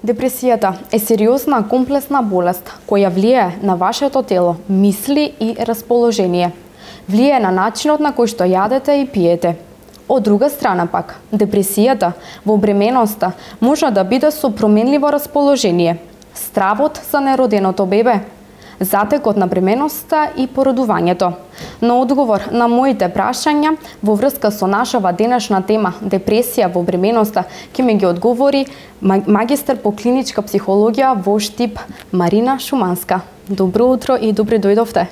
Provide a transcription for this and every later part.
Депресијата е сериозна, комплексна болест која влијае на вашето тело, мисли и расположение. Влијае на начинот на кој што јадете и пиете. Од друга страна пак, депресијата во бременоста може да биде со променливо расположение, стравот за нероденото бебе, затекот на бременоста и породувањето. На одговор на моите прашања во врска со нашава денешна тема депресија во бременоста ќе ми ги одговори магистар по клиничка психологија во Штип Марина Шуманска. Добро утро и добре дојдовте.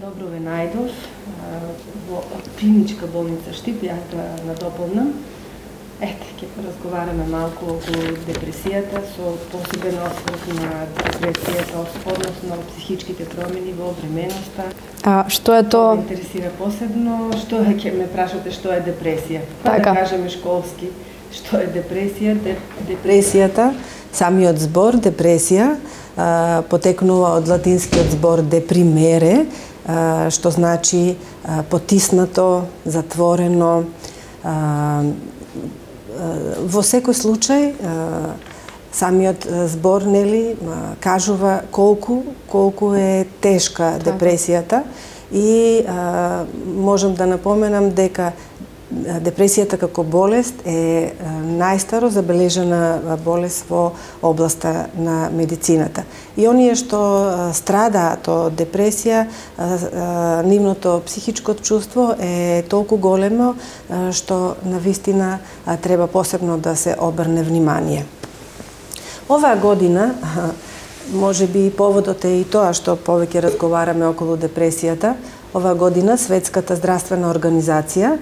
Добро ве најдов во клиничка болница Штип, јас да надополнам. Ете, ќе поразговараме малку околу депресијата со посебен осврт на депресијата, односно психичките промени во бременоста. Што е тоа? Ме интересира посебно, што е, ќе ме прашате што е депресија. Така. Да кажеме школски, што е депресија? Депресијата, самиот збор депресија, потекнува од латинскиот збор депримере, што значи потиснато, затворено. Во секој случај, самиот збор кажува колку е тешка депресијата и можам да напоменам дека депресијата како болест е најстаро забележана болест во областа на медицината. И оние што страдаат од депресија, нивното психичко чувство е толку големо што навистина треба посебно да се обрне внимание. Оваа година, може би поводот е и тоа што повеќе разговараме околу депресијата, оваа година Светската здравствена организација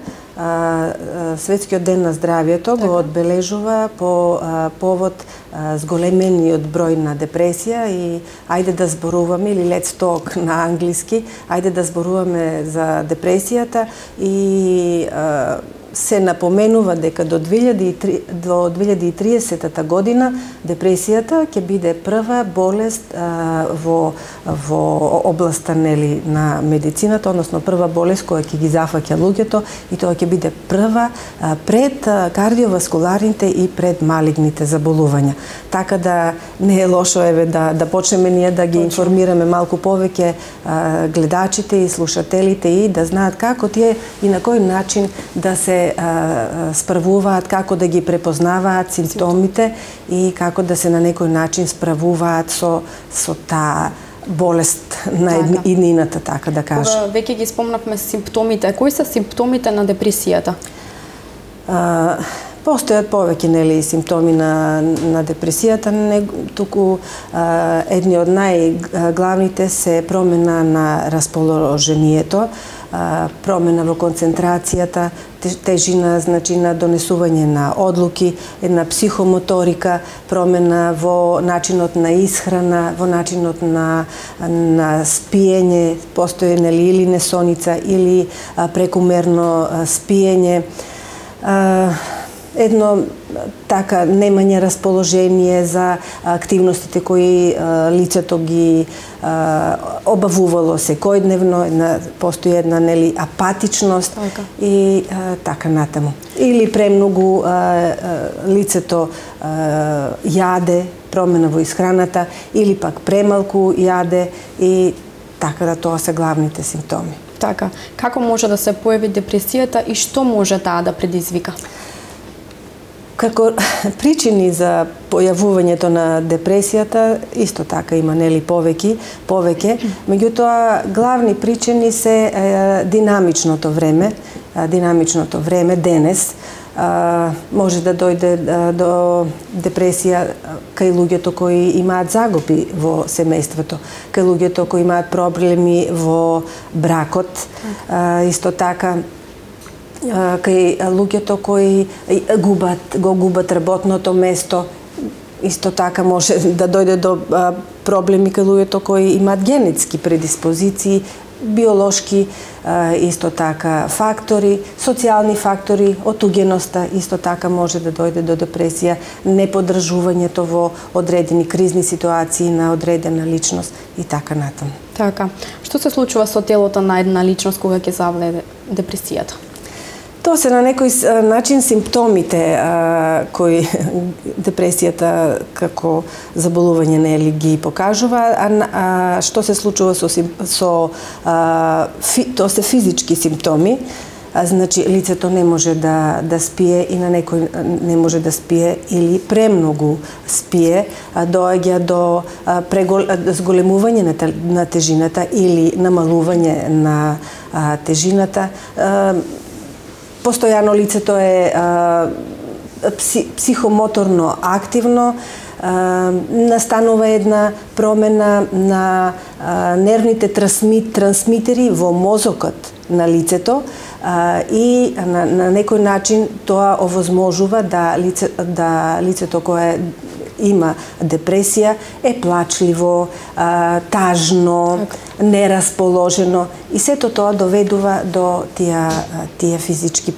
Светскиот ден на здравјето го одбележува по повод зголемениот број на депресија и ајде да зборуваме, или let's talk на англиски, ајде да зборуваме за депресијата и се напоменува дека до 2030 година депресијата ќе биде прва болест во областа на медицината, односно прва болест која ќе ги зафаќа луѓето и тоа ќе биде прва пред кардиоваскуларните и пред малигните заболувања. Така да не е лошо да почнеме ние да ги информираме малку повеќе гледачите и слушателите и да знаат како тие и на кој начин да се справуваат, како да ги препознаваат симптомите и како да се на некој начин справуваат со таа болест на иднината, така да кажа. Веќе ги спомнавме симптомите. Кои се симптомите на депресијата? Постојат повеќе симптоми на депресијата, туку едни од најглавните се промена на расположението, промена во концентрацијата, тежина, значи на донесување на одлуки, една психомоторика, промена во начинот на исхрана, во начинот на спиење, постои или несоница или прекумерно спиење, едно така немање расположение за активностите кои лицето ги обавувало секојдневно, постои една апатичност и така натаму. Или премногу лицето јаде, промена во исхраната, или пак премалку јаде и така да тоа се главните симптоми. Така, како може да се појави депресијата и што може таа да предизвика? Како причини за појавувањето на депресијата, исто така има повеќе, меѓутоа главни причини се динамичното време денес. Може да дојде до депресија кај луѓето кои имаат загуби во семејството, кај луѓето кои имаат проблеми во бракот, исто така кај луѓето кои го губат работното место, исто така може да дојде до проблеми кај луѓето кои имаат генетски предиспозиции, биолошки исто така фактори, социјални фактори, отугеноста исто така може да дојде до депресија, неподржувањето во одредени кризни ситуации на одредена личност и така натаму. Така, што се случува со телото на една личност кога ќе завладее депресијата? Тоа се на некој начин симптомите кои депресијата како заболување нели ги покажува, а што се случува тоа се физички симптоми. Значи лицето не може да спие и на некој не може да спие или премногу спие, доаѓа до зголемување на тежината или намалување на тежината. Постојано лицето е психомоторно активно, настанува една промена на нервните трансмитери во мозокот на лицето и на некој начин тоа овозможува да лицето кое има депресија е плачливо, тажно, нерасположено и сето тоа доведува до тие физички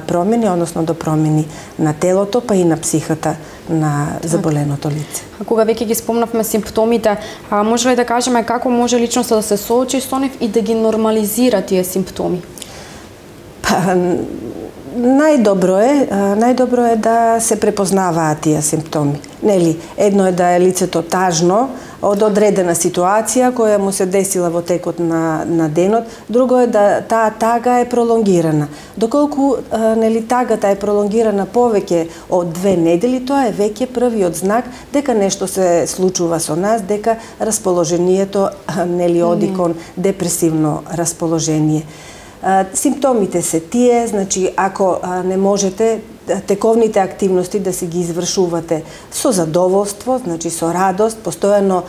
промени, односно до промени на телото, па и на психата на заболеното лице. А кога веќе ги спомнавме симптомите, може ли да кажеме како може личноста да се соочи со нив и да ги нормализира тие симптоми? Најдобро е да се препознаваат тие симптоми. Нели, едно е да е лицето тажно од одредена ситуација која му се десила во текот на денот, друго е да таа тага е пролонгирана. Доколку нели тагата е пролонгирана повеќе од 2 недели, тоа е веќе првиот знак дека нешто се случува со нас, дека расположението нели оди кон депресивно расположение. Симптомите се тие, значи ако не можете тековните активности да си ги извршувате со задоволство, значи со радост, постојано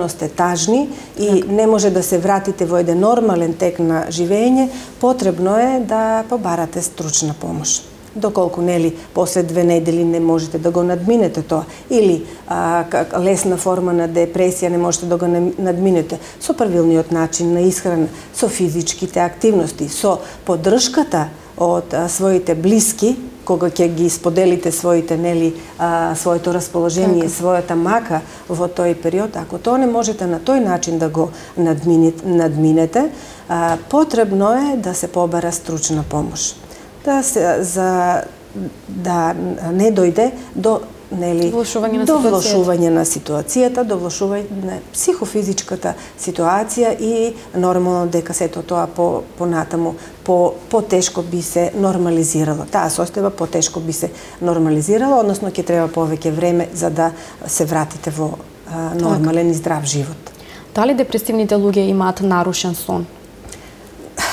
сте тажни и не може да се вратите во еден нормален тек на живење, потребно е да побарате стручна помош. Доколку нели после 2 недели не можете да го надминете тоа или лесна форма на депресија не можете да го надминете со правилниот начин на исхрана, со физичките активности, со поддршката од своите блиски, кога ќе ги споделите своите своето расположение, својата мака во тој период, ако тоа не можете на тој начин да го надминете, потребно е да се побара стручна помош. Да не дојде до влошување на ситуацијата, до влошување на психофизичката ситуација и нормално дека сето тоа понатаму потешко би се нормализирало. Таа состојба потешко би се нормализирала, односно ќе треба повеќе време за да се вратите во нормален и здрав живот. Дали депресивните луѓе имаат нарушен сон?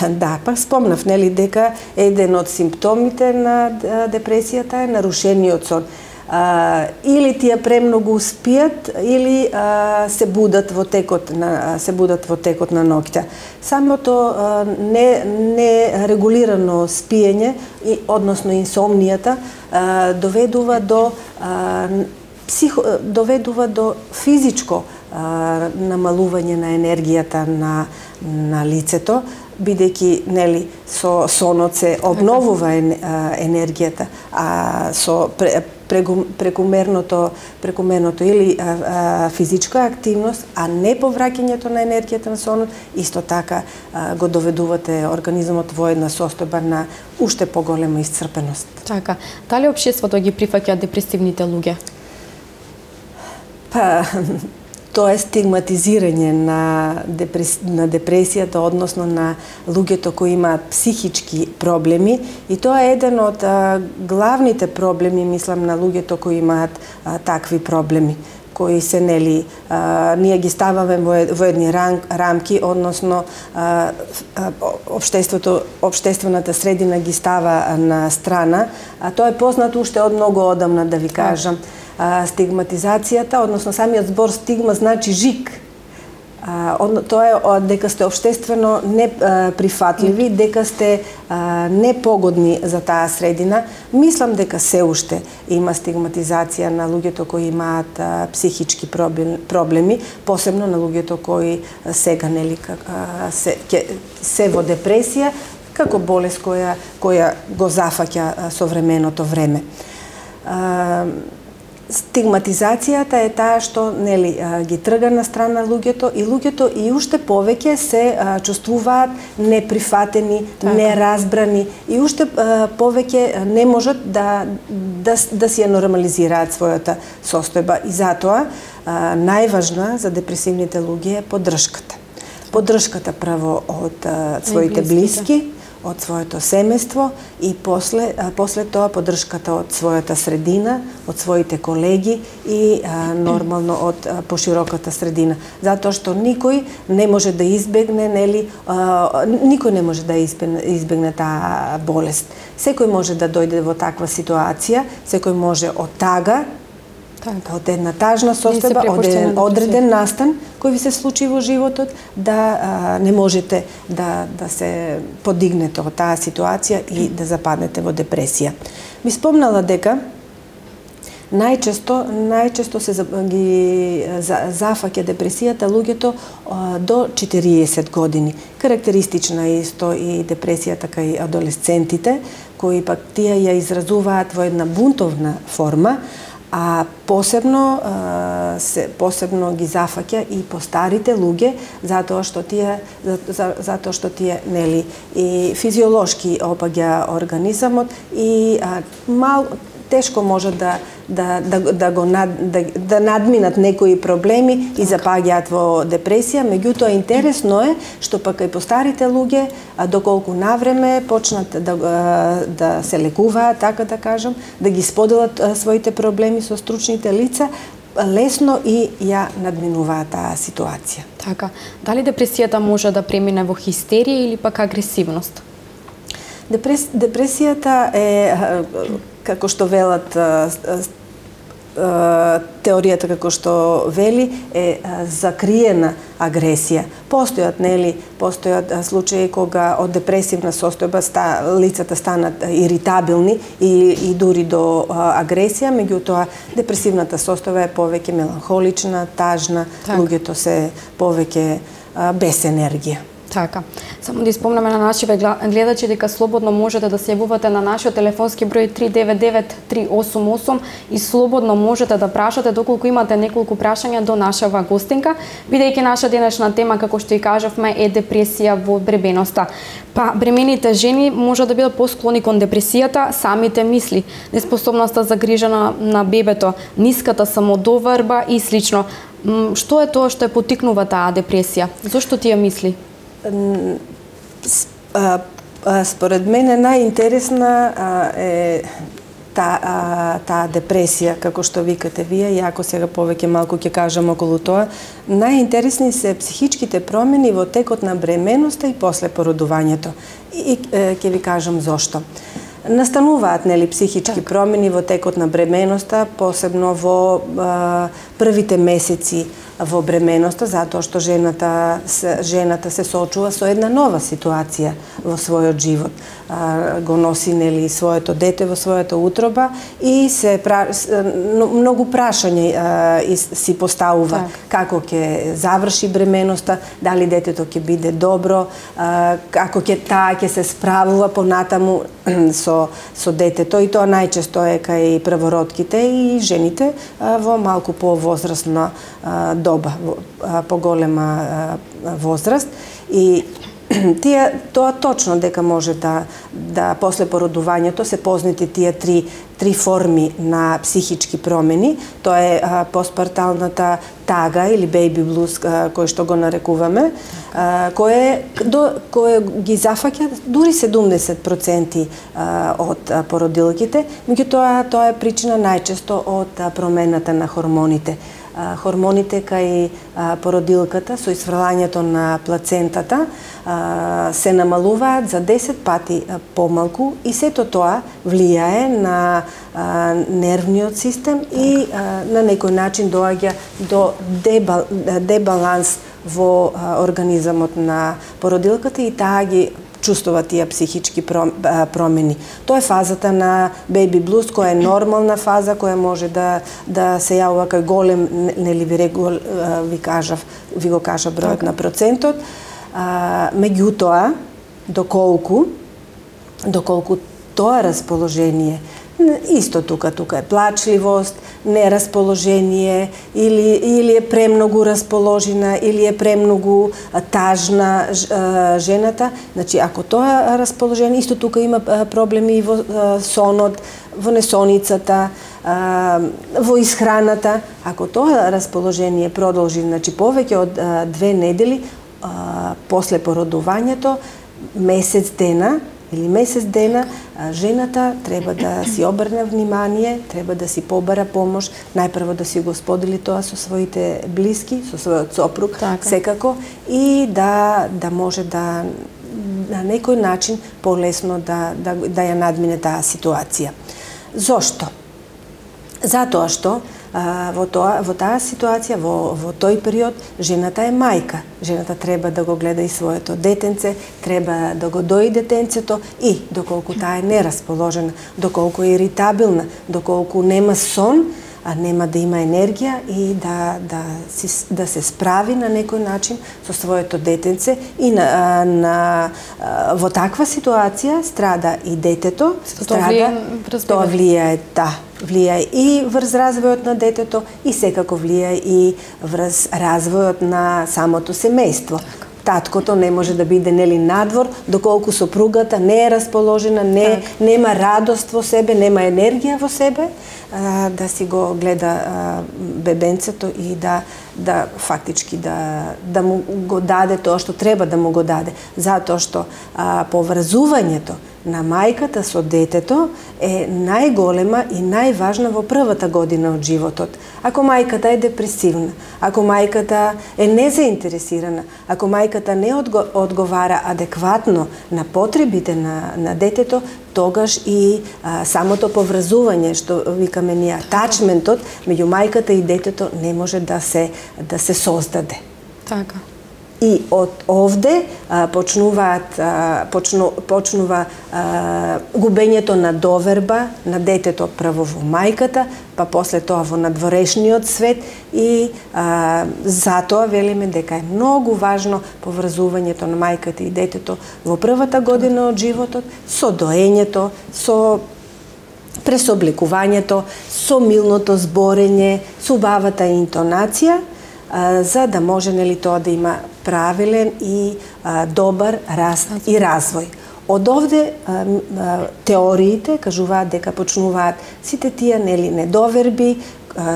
Да, па спомнав, нели, дека еден од симптомите на депресијата е нарушениот сон. Или тие премногу спијат, или се будат во текот на ноќта. Самото нерегулирано спиење, односно инсомнијата, доведува до физичко намалување на енергијата на лицето, бидејќи нели со сонот се обновува енергијата, а со прекумерното или физичка активност, а не повраќањето на енергијата на сонот, исто така го доведувате организмот во една состојба на уште поголема исцрпеност. Така, дали општеството ги прифаќа депресивните луѓе? Па, тоа е стигматизирање на депресијата, односно на луѓето кои имаат психички проблеми, и тоа е еден од главните проблеми, мислам, на луѓето кои имаат такви проблеми, кои се нели ние ги ставаме во едни рамки, односно општествената средина ги става на страна, а тоа е познато уште од многу одамна, да ви кажам. Стигматизацијата, односно самиот збор стигма значи жик. Тоа е дека сте општествено неприфатливи, дека сте непогодни за таа средина. Мислам дека се уште има стигматизација на луѓето кои имаат психички проблеми, посебно на луѓето кои сега нели се во депресија, како болест која го зафаќа современото време. Стигматизацијата е таа што нели ги трга на страна луѓето и уште повеќе се чувствуваат неприфатени, неразбрани и уште повеќе не можат да си ја нормализираат својата состојба и затоа најважна за депресивните луѓе е поддршката. Поддршката прво од своите блиски, од своето семејство и после тоа поддршката од својата средина, од своите колеги и нормално од пошироката средина. Затоа што никој не може да избегне, никој не може да избегне таа болест. Секој може да дојде во таква ситуација, секој може од тага, од една тажна состојба, од еден одреден настан кој ви се случи во животот, да не можете да се подигнете од таа ситуација и да западнете во депресија. Ми спомнала дека најчесто се ги зафаќа депресијата луѓето до 40 години. Карактеристична е исто и депресијата кај адолесцентите, кои пак тие ја изразуваат во една бунтовна форма, а посебно ги зафаќа и постарите луѓе, затоа што тие нели и физиолошки опаѓа организамот и тешко може да надминат некои проблеми и запаѓаат во депресија. Меѓутоа интересно е што пак и постарите луѓе, доколку навреме почнат да се лекуваат, така да кажам, да ги споделат своите проблеми со стручните лица, лесно и ја надминуваат таа ситуација. Така. Дали депресијата може да премине во хистерија или пак агресивност? Депресијата е, како што велат теоријата, како што вели, е закриена агресија. Постојат случаи кога од депресивна состојба лицата станат иритабилни и дури до агресија, меѓутоа депресивната состојба е повеќе меланхолична, тажна, луѓето се повеќе без енергија. Така. Само да испомнеме на нашите гледачи дека слободно можете да се јавувате на нашиот телефонски број 399-388 и слободно можете да прашате доколку имате неколку прашања до нашава гостинка, бидејќи наша денешна тема, како што и кажавме, е депресија во бременоста. Па бремените жени може да бидат посклони кон депресијата, самите мисли, неспособноста за грижа на бебето, ниската самодоварба и слично. Што е тоа што ја поттикнува таа депресија? Зошто тие мисли? Според мене најинтересна е таа депресија, како што викате вие, и ако сега повеќе малку ќе кажам околу тоа, најинтересни се психичките промени во текот на бременоста и после породувањето. И ќе ви кажам зошто. Настануваат психички промени во текот на бременоста, посебно во првите месеци во бременоста, затоа што жената се соочува со една нова ситуација во својот живот. Го носи своето дете во својата утроба и многу прашања си поставува како ќе заврши бременоста, дали детето ќе биде добро, како таа ќе се справува понатаму со детето, и тоа најчесто е кај првородките и жените во малку повозрастна доба, поголема возраст, и тоа точно дека може да после породувањето се познати тие три форми на психички промени. Тоа е постпарталната тага или бејби блуз, кој што го нарекуваме, кој ги зафаќа дури 70% од породилките, меѓутоа тоа е причина најчесто од промената на хормоните. Хормоните кај породилката со исфрлањето на плацентата се намалуваат за 10 пати помалку, и сето тоа влијае на нервниот систем и на некој начин доаѓа до дебаланс во организамот на породилката, и таа ги чувствува тие психички промени. Тоа е фазата на бејби блуз, која е нормална фаза, која може да се јавува кај голем, ви го кажав бројот на процентот. Меѓутоа, доколку тоа расположение Исто тука е плачливост, нерасположение, или е премногу расположена, или е премногу тажна жената. Значи, ако тоа расположение, исто тука има проблеми и во сонот, во несоницата, во исхраната. Ако тоа расположение продолжи, значи, повеќе од 2 недели после породувањето, месец дена, жената треба да си обрне внимание, треба да си побара помош, најпрво да си го сподели тоа со своите блиски, со својот сопруг, секако, и да може да на некој начин полесно да ја надмине таа ситуација. Зошто? Затоа што во таа ситуација, во тој период, жената е мајка. Жената треба да го гледа и своето детенце, треба да го дои детенцето, и доколку таа е нерасположена, доколку е иритабилна, доколку нема сон, нема да има енергија и да се справи на некој начин со своето детенце, и во таква ситуација страда и детето, тоа влијае и врз развојот на детето, и секако влијае и врз развојот на самото семејство. Таткото не може да биде надвор, доколку сопругата не е расположена, нема радост во себе, нема енергија во себе, да си го гледа бебенцето и да фактички да му го даде тоа што треба да му го даде. Затоа што поврзувањето на мајката со детето е најголема и најважна во првата година од животот. Ако мајката е депресивна, ако мајката е незаинтересирана, ако мајката не одговара адекватно на потребите на детето, тогаш и самото поврзување, што викаме ние атачментот меѓу мајката и детето, не може да се создаде. Така. И од овде почнува губењето на доверба на детето прво во мајката, па после тоа во надворешниот свет, и затоа велиме дека е многу важно поврзувањето на мајката и детето во првата година од животот, со доењето, со пресобликувањето, со милното зборење, со убавата интонација, за да може тоа да има правилен и добар раст и развој. Од овде теориите кажуваат дека почнуваат сите тие недоверби,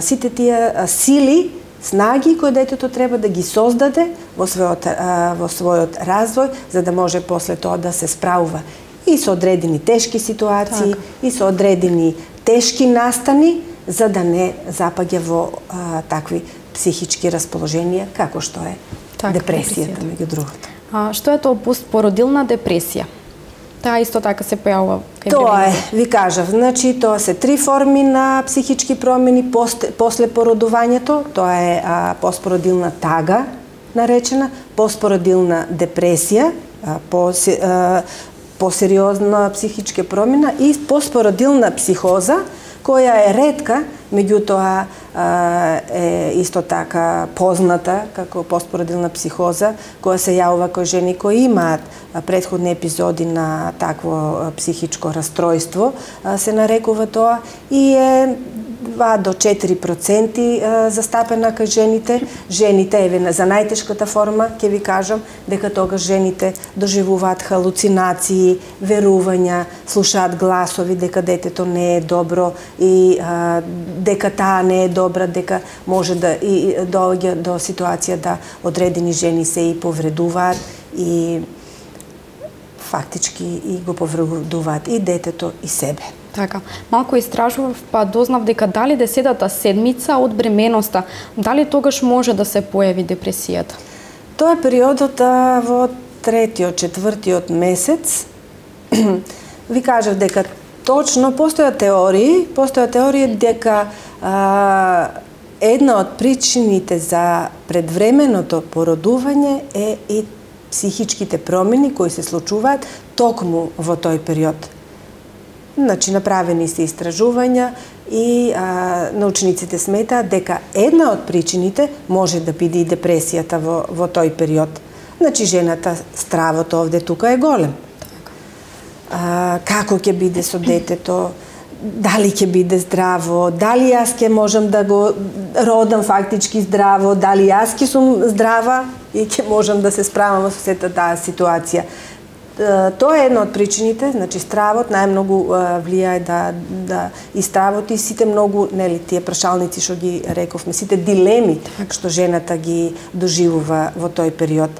сите тие сили, снаги кои детето треба да ги создаде во својот развој, за да може после тоа да се справува и со одредени тешки ситуации, и со одредени тешки настани, за да не запаѓа во такви психички расположенија, како што е депресијата, меѓу другото. Што е тоа постпородилна депресија? Таа исто така се појавува кај бебињата? Тоа е, ви кажав, значи тоа се 3 форми на психички промени после породувањето. Тоа е постпородилна тага, наречена, постпородилна депресија, посериозна психичка промена, и постпородилна психоза, која е ретка, меѓутоа е исто така позната како постпородилна психоза, која се јавува кои жени кои имаат претходни епизоди на такво психичко расстройство, се нарекува тоа, и е 2 до 4% застапена кај жените. Жените, еве за најтешката форма, ќе ви кажам дека тогаш жените доживуваат халуцинации, верувања, слушаат гласови дека детето не е добро и дека таа не е добра, дека може да и доаѓа до ситуација да одредени жени се и повредуваат и фактички и го повредуваат и детето и себе. Така, малку истражував, па дознав дека дали 10-та седмица од бременоста, дали тогаш може да се појави депресијата? Тоа е периодот во 3-4 месец. Ви кажав дека точно постојат теории дека една од причините за предвременото породување е и психичките промени кои се случуваат токму во тој период. Значи, направени се истражувања и научниците сметаат дека една од причините може да биде и депресијата во тој период. Значи, жената, стравот овде тука е голем. Како ќе биде со детето, дали ќе биде здраво, дали јас ќе можам да го родам фактички здраво, дали јас ќе сум здрава и ќе можам да се справам со сета таа ситуација. Тоа е една од причините, значи стравот најмногу влијае да и стравот и сите многу, нели, тие прашалници што ги рековме, сите дилеми што жената ги доживува во тој период.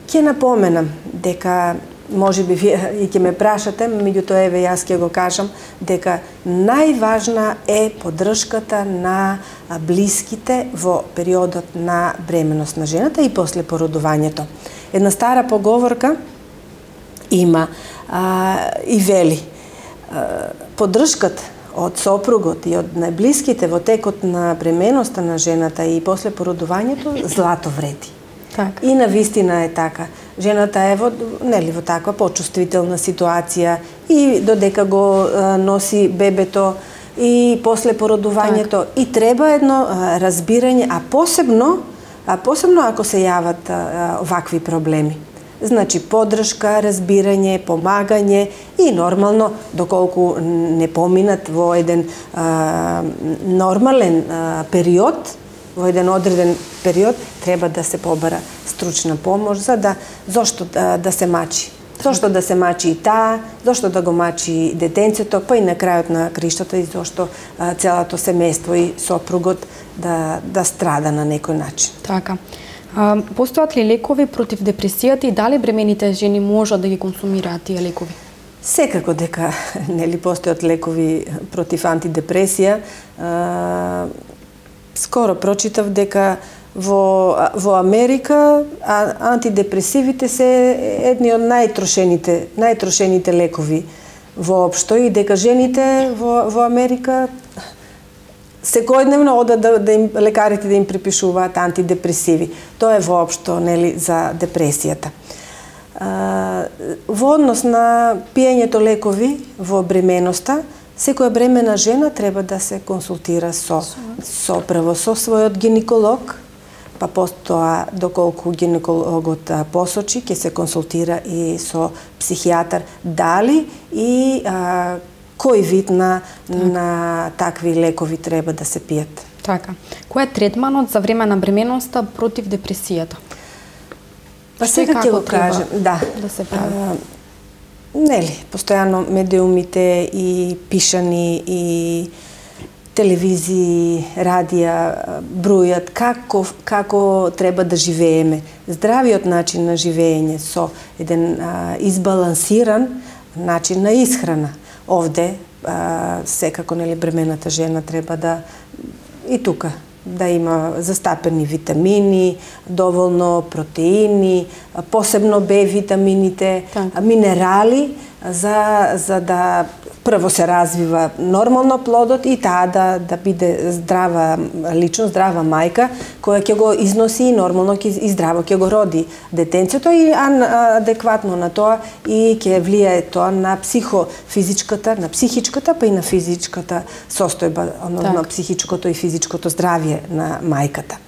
Ќе напоменам дека можеби вие и ќе ме прашате, меѓутоа еве јас ќе го кажам дека најважна е поддршката на блиските во периодот на бременост на жената и после породувањето. Една стара поговорка има и вели поддршката од сопругот и од најблиските во текот на бременоста на жената и после породувањето злато вреди. Так. И навистина е така. Жената е во таква почувствителна ситуација и додека го носи бебето и после породувањето и треба едно разбирање, а посебно ако се јават вакви проблеми. Значи поддршка, разбирање, помагање и нормално доколку не поминат во еден нормален период, во еден одреден период треба да се побара стручна помош зошто да се мачи. Зошто да се мачи и таа, зошто да го мачи детенцето, па и на крајот на криштата и зошто целото семејство и сопругот да страда на некој начин. Така. Постојат ли лекови против депресијата и дали бремените жени можат да ги консумираат тие лекови? Секако дека нели постојат лекови против антидепресија. Скоро прочитав дека во Америка антидепресивите се едни од најтрошените лекови воопшто и дека жените во Америка секојдневно одат лекарите да им припишуваат антидепресиви. Тоа е воопшто нели за депресијата. Во однос на пиењето лекови во бременоста, секоја бремена жена треба да се консултира прво со својот гинеколог, па потоа доколку гинекологот посочи, ќе се консултира и со психијатар дали и кој вид на такви лекови треба да се пијат. Така. Кој е третманот за време на бременоста против депресијата? Па сега ќе го кажем, да се прави. Нели, постојано медиумите и пишани и телевизии, радија бројат како треба да живееме. Здравиот начин на живење со еден избалансиран начин на исхрана. Овде секако нели бремената жена треба да и тука да има застапени витамини, доволно протеини, посебно Б витамините, минерали за да прво се развива нормално плодот и таа да биде здрава личност, здрава мајка која ќе го износи и нормално и здраво ќе го роди детенцето и адекватно на тоа и ќе влијае тоа на на психичката, па и на физичката состојба, на психичкото и физичкото здравје на мајката.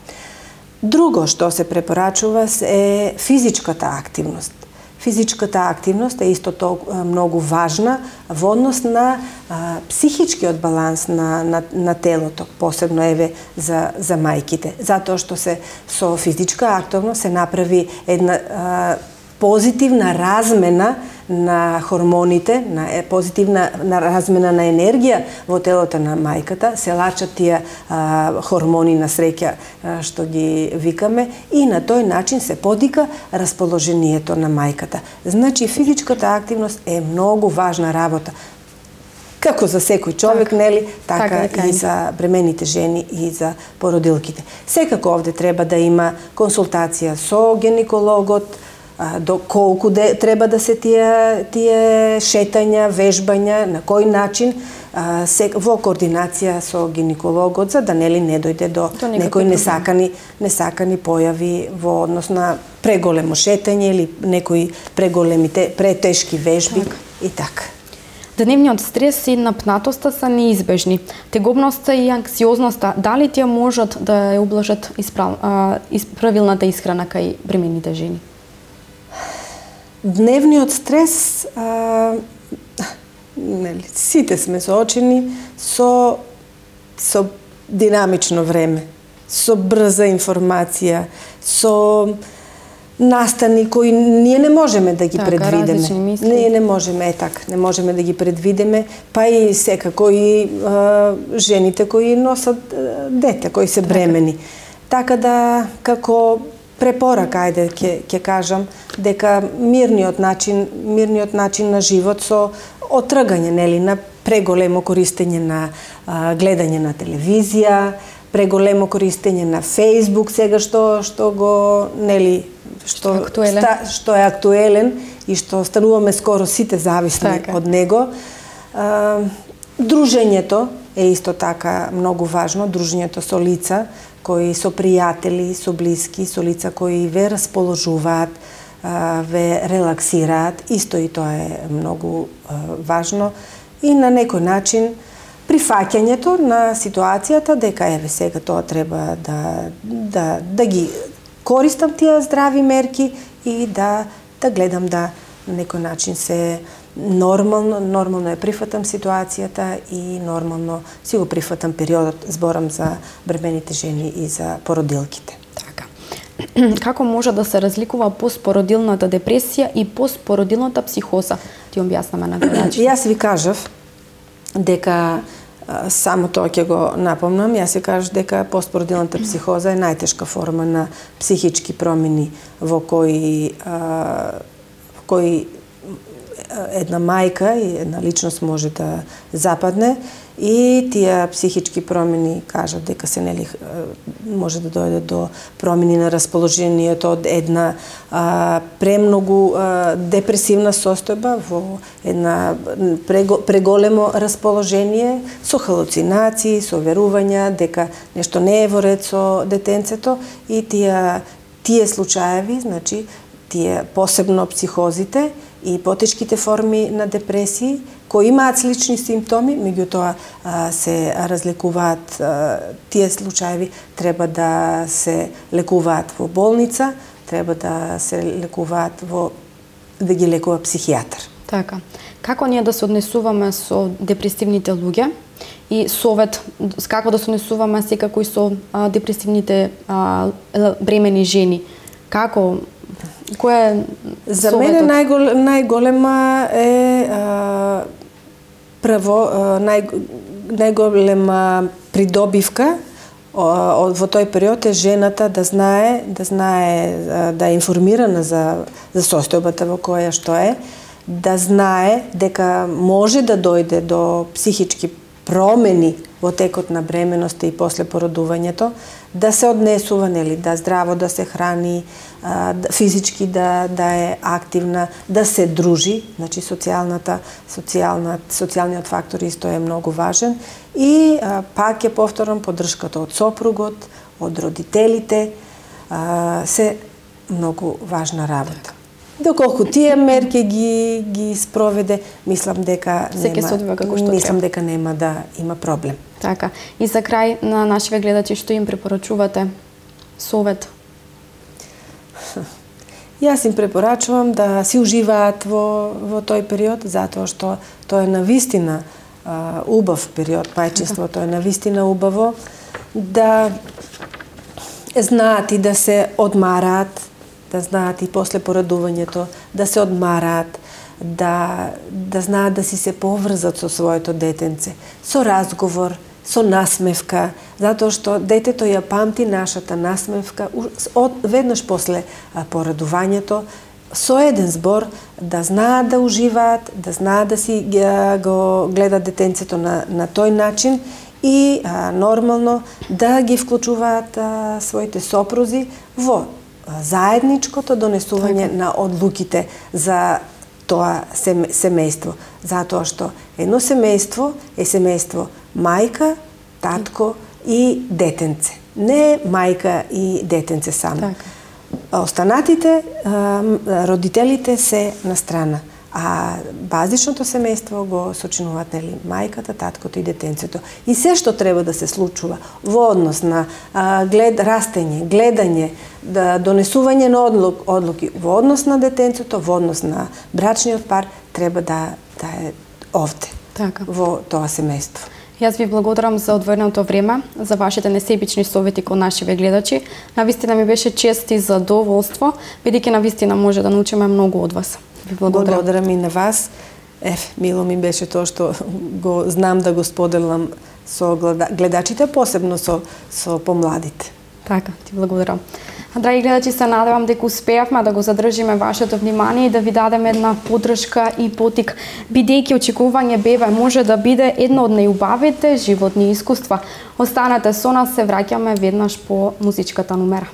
Друго што се препорачува е физичката активност. Физичката активност е исто толку многу важна во однос на психичкиот баланс на телото, посебно еве за мајките, затоа што со физичка активност се направи една позитивна размена на хормоните, позитивна размена на енергија во телото на мајката, се лачат тие хормони на среќа што ги викаме и на тој начин се подика расположението на мајката. Значи физичката активност е многу важна работа. Како за секој човек, нели, така и за бремените жени и за породилките. Секако овде треба да има консултација со гинекологот, колку треба да се тие шетања, вежбања, на кој начин, во координација со гинекологот, за да нели не дојде до некои несакани појави во однос на преголемо шетање или некои претешки вежби и така. Дневниот стрес и напнатоста се неизбежни. Тегобноста и анксиозноста, дали тие можат да ја ублажат правилната исхрана кај бремените жени? Дневниот стрес нели, сите сме соочени со динамично време, со брза информација, со настани кои ние не можеме да ги предвидиме. Ние не можеме, не можеме да ги предвидиме, па и секако и жените кои носат дете, кои се бремени. Така да, како препорака, ајде ќе кажам, дека мирниот начин на живот со отргање, нели, на преголемо користење на гледање на телевизија, преголемо користење на Facebook, сега што го, нели, што е актуелен и што стануваме скоро сите зависни од него. Дружењето е исто така многу важно, дружењето со лица кои со пријатели, со блиски, со лица кои ве расположуваат, ве релаксираат, исто и тоа е многу важно. И на некој начин прифаќањето на ситуацијата дека еве сега тоа треба да ги користам тие здрави мерки и да гледам да на некој начин се нормално ја прифатам ситуацијата и нормално си го прифатам периодот, зборам за бремените жени и за породилките. Така. Како може да се разликува постпородилната депресија и постпородилната психоза? Ти објаснаме на гледачите. Јас ви кажав дека само тоа ќе го напомнам, јас ви кажав дека постпородилната психоза е најтешка форма на психички промени во кои една мајка и една личност може да западне и тие психички промени кажат дека се, нели, може да дојде до промени на расположението од една премногу депресивна состојба во една преголемо расположение со халуцинации, со верувања дека нешто не е во ред со детенцето и тие случаеви, значи тие посебно психозите и потешките форми на депресии кои имаат слични симптоми, меѓутоа се разликуваат, тие случаеви треба да се лекуваат во болница, треба да се лекуваат да ги лекува психијатар. Така. Како ние да се однесуваме со депресивните луѓе и совет како да се однесуваме секако и со депресивните бремени жени? Како кој е за мене најголема е најголема придобивка во тој период е жената да знае да е информирана за состојбата во која што е, да знае дека може да дојде до психички промени во текот на бременоста и после породувањето, да се однесува, нели, да здраво да се храни, физички да е активна, да се дружи, значи социјалниот фактор исто е многу важен и пак ќе повторам поддршката од сопругот, од родителите, се многу важна работа. Доколку тие мерки ги спроведе, мислам дека нема да има проблем. Така. И за крај на нашите гледачи, што им препорачувате совет? Јас им препорачувам да си уживаат во тој период, затоа што тоа е навистина убав период, мајчинството е навистина убаво, да знаат и да се одмараат, да знаат и после породувањето, да се одмараат, да знаат да си се поврзат со своето детенце, со разговор, со насмевка, затоа што детето ја памти нашата насмевка веднаш после породувањето, со еден збор да знаат да уживаат, да знаат да си го гледат детенцето на тој начин и нормално да ги вклучуваат своите сопрузи во заедничкото донесување на одлуките за тоа семејство. Затоа што едно семејство е семејство мајка, татко и детенце. Не мајка и детенце само. Останатите родителите се на страна. А базичното семејство го сочинуваат, нели, мајката, таткото и детенцето. И се што треба да се случува во однос на растење, гледање, донесување на одлуки, во однос на детенцето, во однос на брачниот пар, треба да е овде, Така. во тоа семејство. Јас ви благодарам за одвоеното време, за вашите несебични совети кон нашиве гледачи. Навистина ми беше чест и задоволство, бидејќи навистина може да научиме многу од вас. Ви благодарам. Благодарам и на вас. Мило ми беше тоа што го знам да го споделам со гледачите, посебно со помладите. Така, ти благодарам. Драги гледачи, се надевам дека успеавме да го задржиме вашето внимание и да ви дадеме една поддршка и потик, бидејќи очекување бебе може да биде едно од најубавите животни искуства. Останете со нас, се враќаме веднаш по музичката номера.